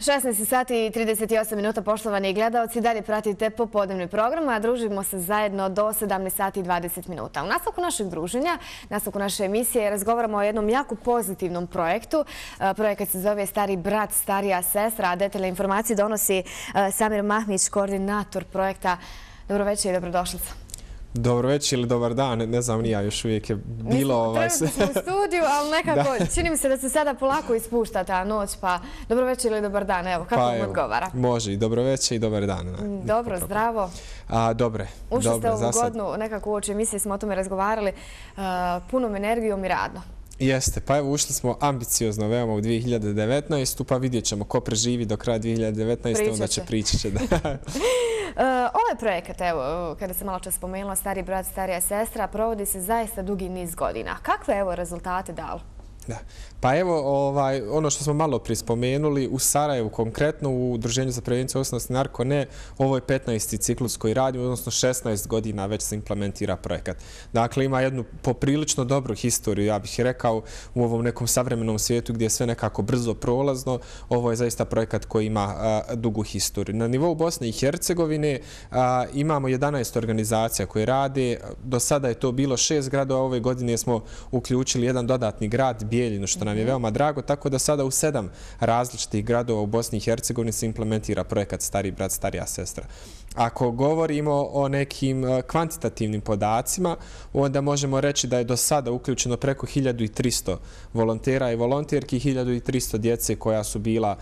16 sati i 38 minuta, poštovani gledalci. Dalje pratite popodnevni program, a družimo se zajedno do 17 sati i 20 minuta. U nastavku našeg druženja, nastavku naše emisije, razgovaramo o jednom jako pozitivnom projektu. Projekat se zove Stari brat, starija sestra, a detaljne informacije donosi Samir Mahmić, koordinator projekta. Dobro večer i dobrodošlica. Dobro večer ili dobar dan, ne znam, nija još uvijek je bilo... Trenutno smo u studiju, ali nekako čini mi se da se sada polako ispušta ta noć, pa dobro večer ili dobar dan, evo, kako vam odgovara? Može i dobro večer i dobar dan. Dobro, zdravo. Dobre. Ušli ste ovu godinu, nekako uoči emisije smo o tome razgovarali, punom energijom i radno. Jeste, pa evo ušli smo ambiciozno veoma u 2019. Pa vidjet ćemo ko preživi do kraja 2019. Onda će pričati. Ovaj projekat, evo, kada sam malo čas spomenula, Stari brat, starija sestra, provodi se zaista dugi niz godina. Kakve je rezultate dalo? Pa evo, ono što smo malo prije spomenuli, u Sarajevu konkretno, u Udruženju za prevenciju ovisnosti narko, ovo je 15. ciklus koji radi, odnosno 16 godina već se implementira projekat. Dakle, ima jednu poprilično dobru historiju, ja bih rekao, u ovom nekom savremenom svijetu gdje je sve nekako brzo prolazno. Ovo je zaista projekat koji ima dugu historiju. Na nivou Bosne i Hercegovine imamo 11 organizacija koje rade. Do sada je to bilo 6 gradova, ove godine smo uključili jedan dodatni grad, Bijeljinu, što nam je veoma drago, tako da sada u 7 različitih gradova u Bosni i Hercegovini se implementira projekat Stari brat, starija sestra. Ako govorimo o nekim kvantitativnim podacima, onda možemo reći da je do sada uključeno preko 1300 volontera i volonterki, 1300 djece koja su bila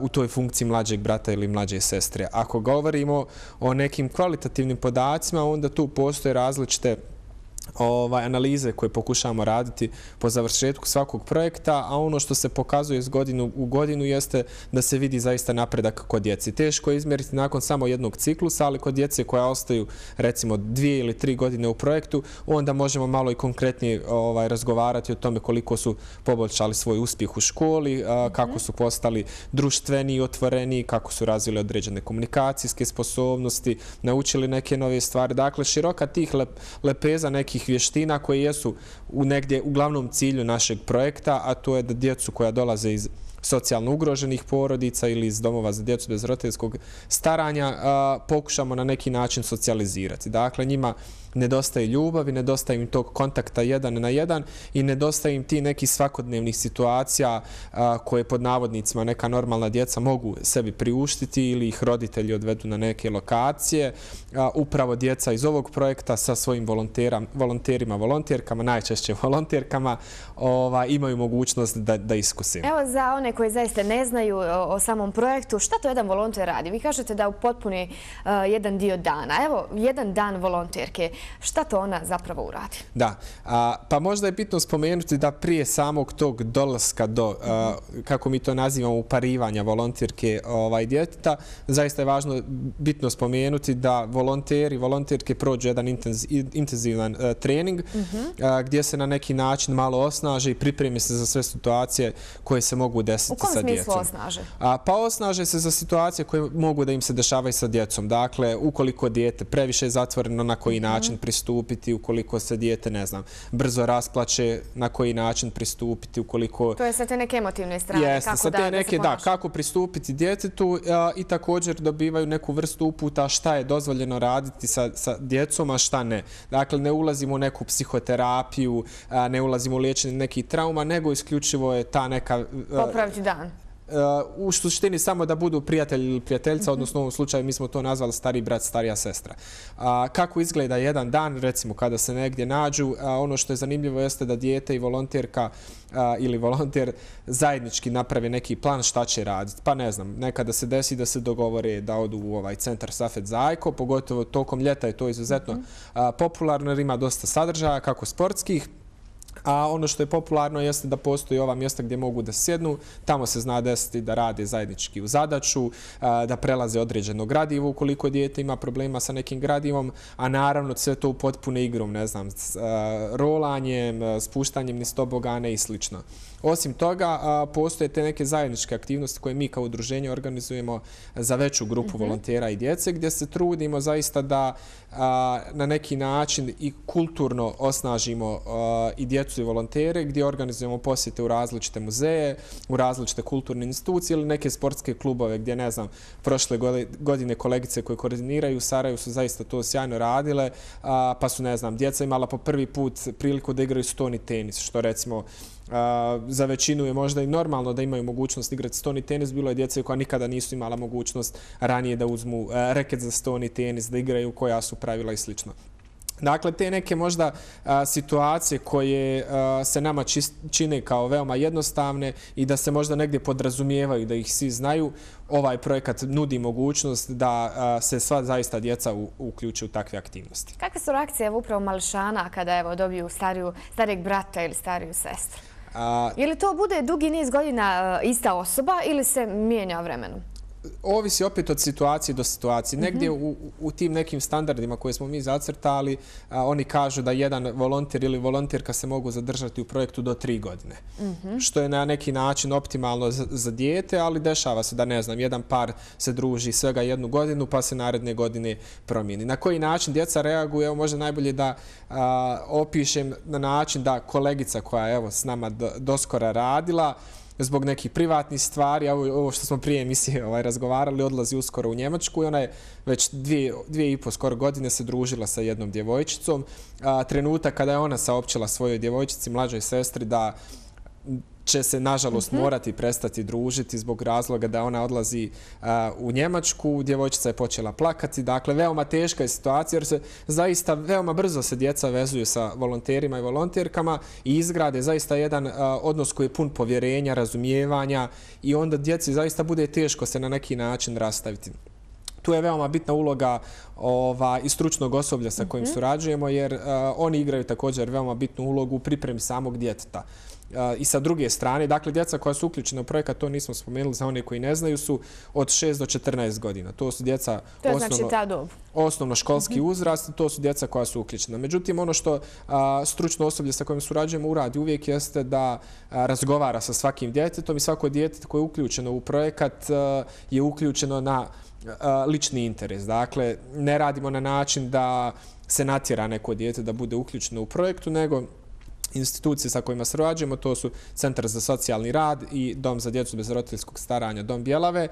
u toj funkciji mlađeg brata ili mlađe sestre. Ako govorimo o nekim kvalitativnim podacima, onda tu postoje različite analize koje pokušavamo raditi po završetku svakog projekta, a ono što se pokazuje iz godinu u godinu jeste da se vidi zaista napredak kod djece. Teško je izmjeriti nakon samo jednog ciklusa, ali kod djece koja ostaju recimo 2 ili 3 godine u projektu, onda možemo malo i konkretnije razgovarati o tome koliko su poboljšali svoj uspjeh u školi, kako su postali društveni i otvoreni, kako su razvili određene komunikacijske sposobnosti, naučili neke nove stvari. Dakle, široka tih lepeza nekih vještina koje jesu negdje u glavnom cilju našeg projekta, a to je da djecu koja dolaze iz socijalno ugroženih porodica ili iz domova za djecu bez roditeljskog staranja pokušamo na neki način socijalizirati. Dakle, njima nedostaje ljubavi, nedostaje im tog kontakta jedan na jedan i nedostaje im ti neki svakodnevnih situacija koje pod navodnicima neka normalna djeca mogu sebi priuštiti ili ih roditelji odvedu na neke lokacije. Upravo djeca iz ovog projekta sa svojim volonterima, volonterkama, najčešće volonterkama, imaju mogućnost da iskuse. Evo, za one koji zaista ne znaju o samom projektu, šta to jedan volonter radi? Vi kažete da upotpuni jedan dio dana. Evo, jedan dan volonterke. Šta to ona zapravo uradi? Da, pa možda je bitno spomenuti da prije samog tog dolaska do, kako mi to nazivamo, uparivanja volonterke djeteta, zaista je bitno spomenuti da volonteri i volonterke prođu jedan intenzivan trening gdje se na neki način malo osnaže i pripremi se za sve situacije koje se mogu desiti sa djecom. U kom smislu osnaže? Pa osnaže se za situacije koje mogu da im se dešavaju sa djecom. Dakle, ukoliko dijete previše je zatvoreno, na koji način pristupiti, ukoliko se dijete, ne znam, brzo rasplače, na koji način pristupiti, ukoliko... To je sa te neke emotivne strane, kako da se ponaša. Da, kako pristupiti djetetu i također dobivaju neku vrstu uputa šta je dozvoljeno raditi sa djecom, a šta ne. Dakle, ne ulazimo u neku psihoterapiju, ne ulazimo u liječenje nekih trauma, nego isključivo je ta neka... Popraviti dan. U suštini samo da budu prijatelj ili prijateljica, odnosno u ovom slučaju mi smo to nazvali stari brat, starija sestra. Kako izgleda jedan dan, recimo kada se negdje nađu, ono što je zanimljivo jeste da dijete i volonterka ili volonter zajednički naprave neki plan šta će raditi. Pa ne znam, nekada se desi da se dogovore da odu u centar Safet Zajko, pogotovo tokom ljeta je to izuzetno popularno jer ima dosta sadržaja, kako sportskih, a ono što je popularno jeste da postoji ova mjesta gdje mogu da sjednu, tamo se zna desiti da rade zajednički u zadaću, da prelaze određeno gradivo ukoliko dijete ima problema sa nekim gradivom, a naravno sve to u potpune igrom, ne znam, rolanjem, spuštanjem niz tobogane i slično. Osim toga, postoje te neke zajedničke aktivnosti koje mi kao udruženje organizujemo za veću grupu volontera i djece, gdje se trudimo zaista da na neki način i kulturno osnažimo i djecu djecu i volontere gdje organizujemo posjete u različite muzeje, u različite kulturne institucije ili neke sportske klubove gdje, ne znam, prošle godine kolegice koje koordiniraju u Sarajevu su zaista to sjajno radile, pa su, ne znam, djeca imala po prvi put priliku da igraju stoni tenis, što recimo za većinu je možda i normalno da imaju mogućnost igrati stoni tenis. Bilo je djece koja nikada nisu imala mogućnost ranije da uzmu reket za stoni tenis, da igraju, koja su pravila i slično. Dakle, te neke možda situacije koje se nama čine kao veoma jednostavne i da se možda negdje podrazumijevaju, da ih svi znaju, ovaj projekat nudi mogućnost da se sva zaista djeca uključe u takve aktivnosti. Kakve su reakcije upravo mališana kada dobiju starijeg brata ili stariju sestru? Je li to bude dugi niz godina ista osoba ili se mijenja vremenom? Ovisi opet od situacije do situacije. Negdje u tim nekim standardima koje smo mi zacrtali, oni kažu da jedan volonter ili volonterka se mogu zadržati u projektu do 3 godine. Što je na neki način optimalno za dijete, ali dešava se da, ne znam, jedan par se druži svega 1 godinu pa se naredne godine promijeni. Na koji način djeca reaguju? Evo, možda najbolje da opišem na način da kolegica koja je s nama doskora radila, zbog nekih privatnih stvari, ovo što smo prije emisije razgovarali, odlazi uskoro u Njemačku i ona je već 2,5 skoro godine se družila sa jednom djevojčicom. Trenutak kada je ona saopćila svojoj djevojčici, mlađoj sestri, da će se, nažalost, morati prestati družiti zbog razloga da ona odlazi u Njemačku. Djevojčica je počela plakati. Dakle, veoma teška je situacija jer se zaista veoma brzo se djeca vezuju sa volonterima i volonterkama i izgrade zaista jedan odnos koji je pun povjerenja, razumijevanja i onda djeci zaista bude teško se na neki način rastaviti. Tu je veoma bitna uloga i stručnog osoblja sa kojim surađujemo jer oni igraju također veoma bitnu ulogu u pripremi samog djeteta. I sa druge strane, dakle, djeca koja su uključena u projekat, to nismo spomenuli za one koji ne znaju, su od 6 do 14 godina. To su djeca osnovnoškolski uzrast, to su djeca koja su uključena. Međutim, ono što stručno osoblje sa kojim surađujemo uradi uvijek jeste da razgovara sa svakim djetetom i svako djete koje je uključeno u projekat je uključeno na lični interes. Dakle, ne radimo na način da se natjera neko dijete da bude uključeno u projektu, nego institucije sa kojima surađujemo, to su Centar za socijalni rad i Dom za djecu bez roditeljskog staranja, Dom Bjelave.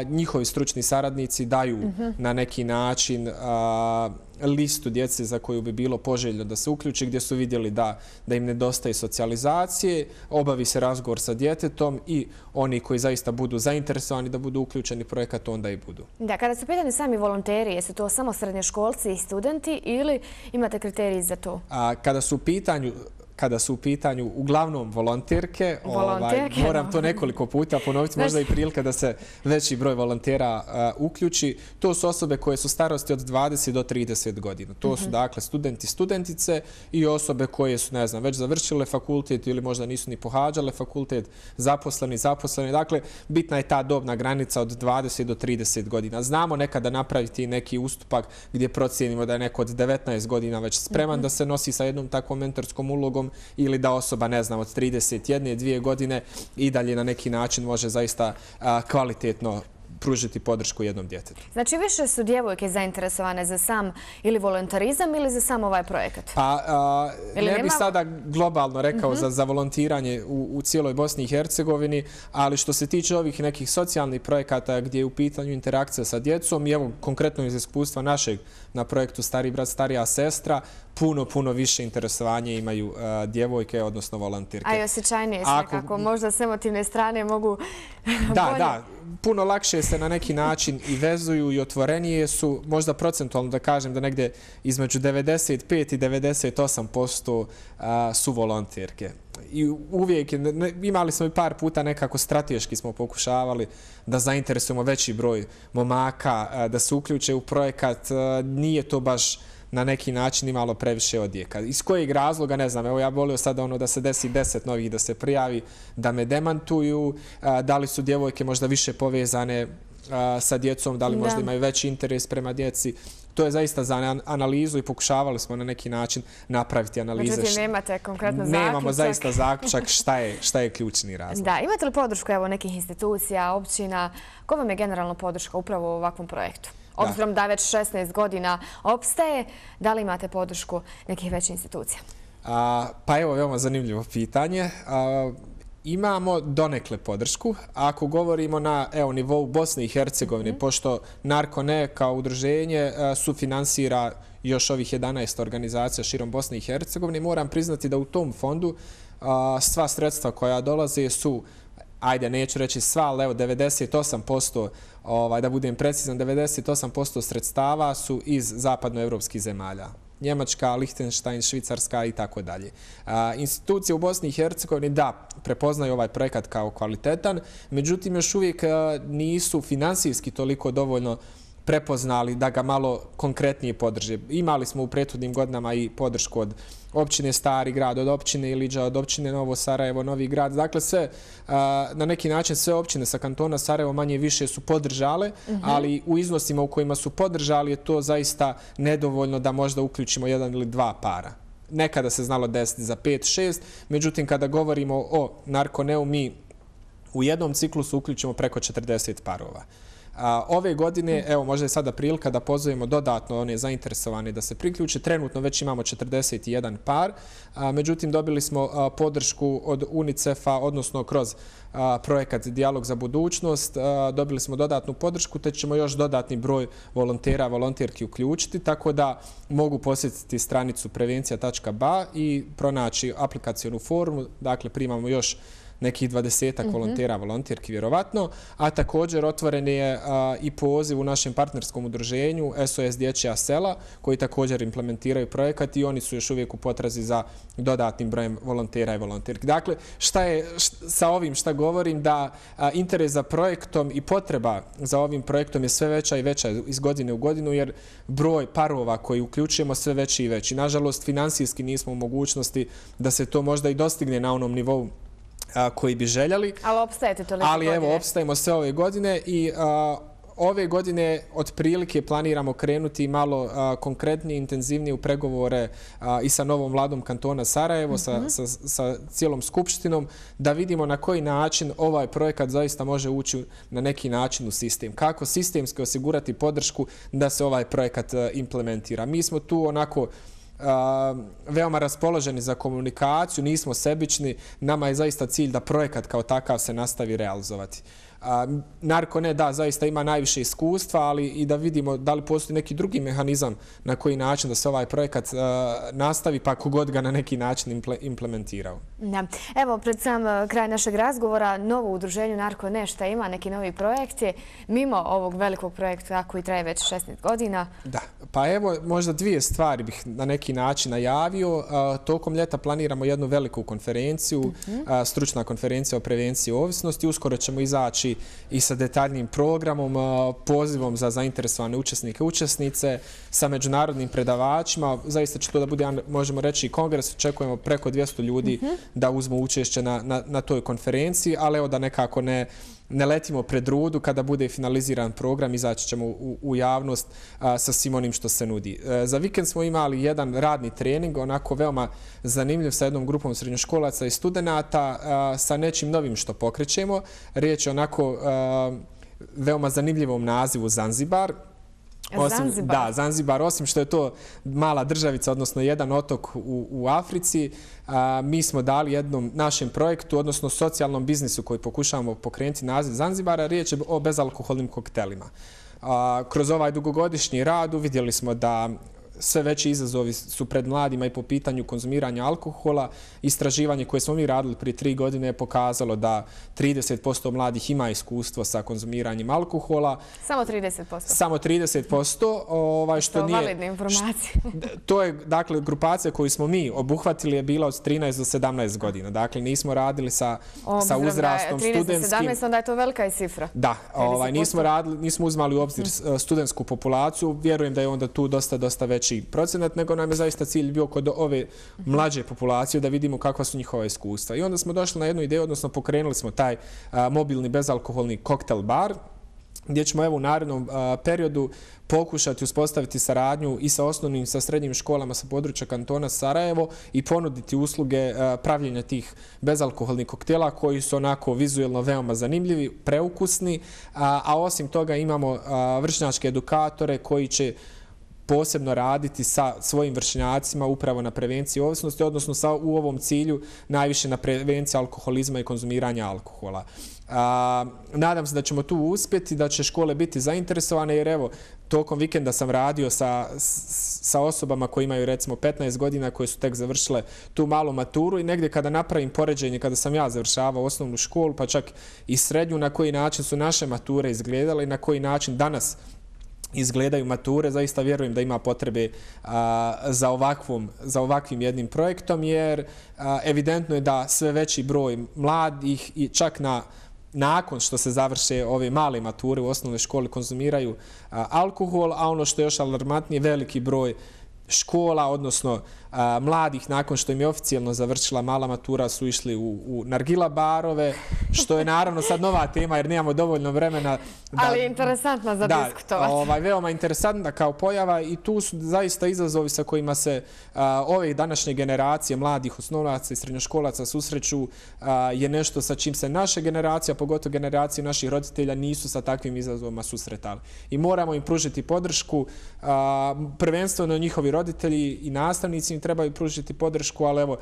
Njihovi stručni saradnici daju na neki način listu djece za koju bi bilo poželjno da se uključi, gdje su vidjeli da im nedostaje socijalizacije, obavi se razgovor sa djetetom i oni koji zaista budu zainteresovani da budu uključeni u projekat, onda i budu. Da, kada su pitani sami volonteri, jesu to samo srednjoškolci i studenti ili imate kriteriji za to? Kada su u pitanju uglavnom volonterke, moram to nekoliko puta ponoviti, možda i prilika da se veći broj volontera uključi. To su osobe koje su starosti od 20 do 30 godina. To su, dakle, studenti, studentice i osobe koje su, ne znam, već završile fakultet ili možda nisu ni pohađale fakultet, zaposleni. Dakle, bitna je ta dobna granica od 20 do 30 godina. Znamo nekada napraviti neki ustupak gdje procijenimo da je neko od 19 godina već spreman da se nosi sa jednom takvom mentorskom ulogom ili da osoba, ne znam, od 31-2 godine i dalje na neki način može zaista kvalitetno pružiti podršku jednom djetetu. Znači, više su djevojke zainteresovane za sam ili volontarizam ili za sam ovaj projekat? Ne bih sada globalno rekao za volontiranje u cijeloj Bosni i Hercegovini, ali što se tiče ovih nekih socijalnih projekata gdje je u pitanju interakcija sa djecom i evo konkretno iz iskustva našeg na projektu Stariji brat, starija sestra, puno više interesovanje imaju djevojke, odnosno volontirke. A i osjećajnije se nekako, možda s emotivne strane mogu bolje. Da, puno lakše se na neki način i vezuju i otvorenije su, možda procentualno da kažem da negdje između 95 i 98% su volontirke. I uvijek, imali smo i par puta nekako strateški smo pokušavali da zainteresujemo veći broj momaka, da se uključe u projekat. Nije to baš na neki način imalo previše odjeka. Iz kojeg razloga, ne znam, evo ja volio sada da se desi 10 novih da se prijavi, da me demantuju, da li su djevojke možda više povezane sa djecom, da li možda imaju veći interes prema djeci. To je zaista za analizu i pokušavali smo na neki način napraviti analize. Međutim, nemate konkretno zaključak. Nemamo zaista zaključak šta je ključni razlog. Da, imate li podršku nekih institucija, općina? Ko vam je generalno podrška upravo u ovakvom projektu? Obzirom da već 16 godina opstaje, da li imate podršku nekih većih institucija? Pa evo, veoma zanimljivo pitanje. Imamo donekle podršku. Ako govorimo na nivou Bosne i Hercegovine, pošto Narko.ne kao udruženje sufinansira još ovih 11 organizacija širom Bosne i Hercegovine, moram priznati da u tom fondu sva sredstva koja dolaze su, ajde, neću reći sva, ali evo 98%, da budem precizan, 98% sredstava su iz zapadnoevropskih zemalja. Njemačka, Lichtenstein, Švicarska i tako dalje. Institucije u Bosni i Hercegovini, da, prepoznaju ovaj projekat kao kvalitetan, međutim još uvijek nisu finansijski toliko dovoljno prepoznali da ga malo konkretnije podrže. Imali smo u prethodnim godinama i podršku od općine Stari grad, od općine Iliđa, od općine Novo Sarajevo, Novi grad. Dakle, sve, na neki način sve općine sa kantona Sarajevo manje više su podržale, ali u iznosima u kojima su podržali je to zaista nedovoljno da možda uključimo jedan ili dva para. Nekada se znalo desiti za 5-6, međutim kada govorimo o Narko.neu, mi u jednom ciklusu uključimo preko 40 parova. Ove godine, evo, možda je sada prilika da pozovemo dodatno one zainteresovane da se priključe. Trenutno već imamo 41 par, međutim dobili smo podršku od UNICEF-a, odnosno kroz projekat Dijalog za budućnost. Dobili smo dodatnu podršku, te ćemo još dodatni broj volontera, volonterki uključiti, tako da mogu posjetiti stranicu prevencija.ba i pronaći aplikacionu formu. Dakle, primamo još nekih 20 volontera, volonterki vjerovatno, a također otvoren je i poziv u našem partnerskom udruženju SOS Dječja sela, koji također implementiraju projekat i oni su još uvijek u potrazi za dodatnim brojem volontera i volonterki. Dakle, šta je sa ovim šta govorim, da interes za projektom i potreba za ovim projektom je sve veća i veća iz godine u godinu, jer broj parova koji uključujemo sve veći i veći. Nažalost, finansijski nismo u mogućnosti da se to možda i dostigne na onom nivou koji bi željeli. Ali opstajete toliko godine. Ali evo, opstajemo sve ove godine i ove godine otprilike planiramo krenuti malo konkretnije, intenzivnije u pregovore i sa novom vladom kantona Sarajevo, sa cijelom skupštinom, da vidimo na koji način ovaj projekat zaista može ući na neki način u sistem. Kako sistemski osigurati podršku da se ovaj projekat implementira. Mi smo tu onako veoma raspoloženi za komunikaciju, nismo sebični, nama je zaista cilj da projekat kao takav se nastavi realizovati. Narko.ne, da, zaista ima najviše iskustva, ali i da vidimo da li postoji neki drugi mehanizam na koji način da se ovaj projekat nastavi, pa kogod ga na neki način implementirao. Evo, pred sam kraj našeg razgovora, novo udruženje Narko.ne, šta ima, neki novi projekti, mimo ovog velikog projekta koji traje već 16 godina? Da, pa evo, možda dvije stvari bih na neki način najavio. Tokom ljeta planiramo jednu veliku konferenciju, stručna konferencija o prevenciji ovisnosti. Uskoro ćemo izaći i sa detaljnim programom, pozivom za zainteresovane učesnike i učesnice, sa međunarodnim predavačima. Zaista će to da bude, možemo reći, kongres. Očekujemo preko 200 ljudi da uzmu učešće na toj konferenciji, ali evo da nekako ne letimo pred rudu. Kada bude finaliziran program, izaći ćemo u javnost sa svim onim što se nudi. Za vikend smo imali jedan radni trening, onako veoma zanimljiv, sa jednom grupom srednjoškolaca i studenata, sa nečim novim što pokrećemo. Riječ je onako veoma zanimljivom nazivu Zanzibar. Da, Zanzibar, osim što je to mala državica, odnosno jedan otok u Africi, mi smo dali jednom našem projektu, odnosno socijalnom biznisu koji pokušavamo pokrenuti naziv Zanzibara, riječ je o bezalkoholnim koktelima. Kroz ovaj dugogodišnji rad vidjeli smo da sve veći izazovi su pred mladima i po pitanju konzumiranja alkohola. Istraživanje koje smo mi radili prije 3 godine je pokazalo da 30% mladih ima iskustvo sa konzumiranjem alkohola. Samo 30%? Samo 30%. Što nije validne informacije. To je, dakle, grupacija koju smo mi obuhvatili je bila od 13 do 17 godina. Dakle, nismo radili sa uzrastom studentskim. 13 do 17, onda je to velika i cifra. Da, nismo uzmali u obzir studentsku populaciju. Vjerujem da je onda tu dosta veći procenat, nego nam je zaista cilj bio kod ove mlađe populacije da vidimo kakva su njihova iskustva. I onda smo došli na jednu ideju, odnosno pokrenuli smo taj mobilni bezalkoholni koktel bar, gdje ćemo evo u narednom periodu pokušati uspostaviti saradnju i sa osnovnim i sa srednjim školama sa područja kantona Sarajevo i ponuditi usluge pravljenja tih bezalkoholnih koktela koji su onako vizuelno veoma zanimljivi, preukusni, a osim toga imamo vršnjačke edukatore koji će posebno raditi sa svojim vršnjacima upravo na prevenciji ovisnosti, odnosno u ovom cilju najviše na prevenciji alkoholizma i konzumiranja alkohola. Nadam se da ćemo tu uspjeti, da će škole biti zainteresovane, jer evo, tokom vikenda sam radio sa osobama koji imaju recimo 15 godina, koje su tek završile tu malu maturu i negdje kada napravim poređenje, kada sam ja završavao osnovnu školu, pa čak i srednju, na koji način su naše mature izgledale i na koji način danas izgledaju mature, zaista vjerujem da ima potrebe za ovakvim jednim projektom, jer evidentno je da sve veći broj mladih i čak nakon što se završe ove male mature u osnovnoj školi konzumiraju alkohol, a ono što je još alarmantnije, veliki broj škola, odnosno mladih, nakon što im je oficijalno završila mala matura, su išli u nargila barove, što je naravno sad nova tema jer nemamo dovoljno vremena. Ali interesantna za diskutovati. Veoma interesantna kao pojava i tu su zaista izazovi sa kojima se ove današnje generacije mladih osnovnaca i srednjoškolaca susreću, je nešto sa čim se naše generacija, pogotovo generacije naših roditelja, nisu sa takvim izazovima susretali. I moramo im pružiti podršku, prvenstveno njihovi roditelji i nastavnici im trebaju pružiti podršku, ali evo,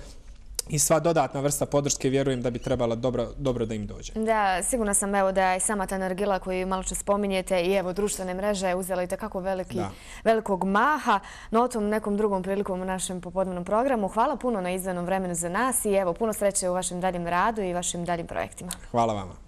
i sva dodatna vrsta podrške vjerujem da bi trebala dobro da im dođe. Da, sigurna sam evo da je sama ta nargila koju malo čas spominjete i evo društvene mreže uzela i takako velikog maha, no o tom nekom drugom prilikom u našem popodnevnom programu. Hvala puno na izdvojenom vremenu za nas i evo puno sreće u vašem daljem radu i vašim daljim projektima. Hvala vama.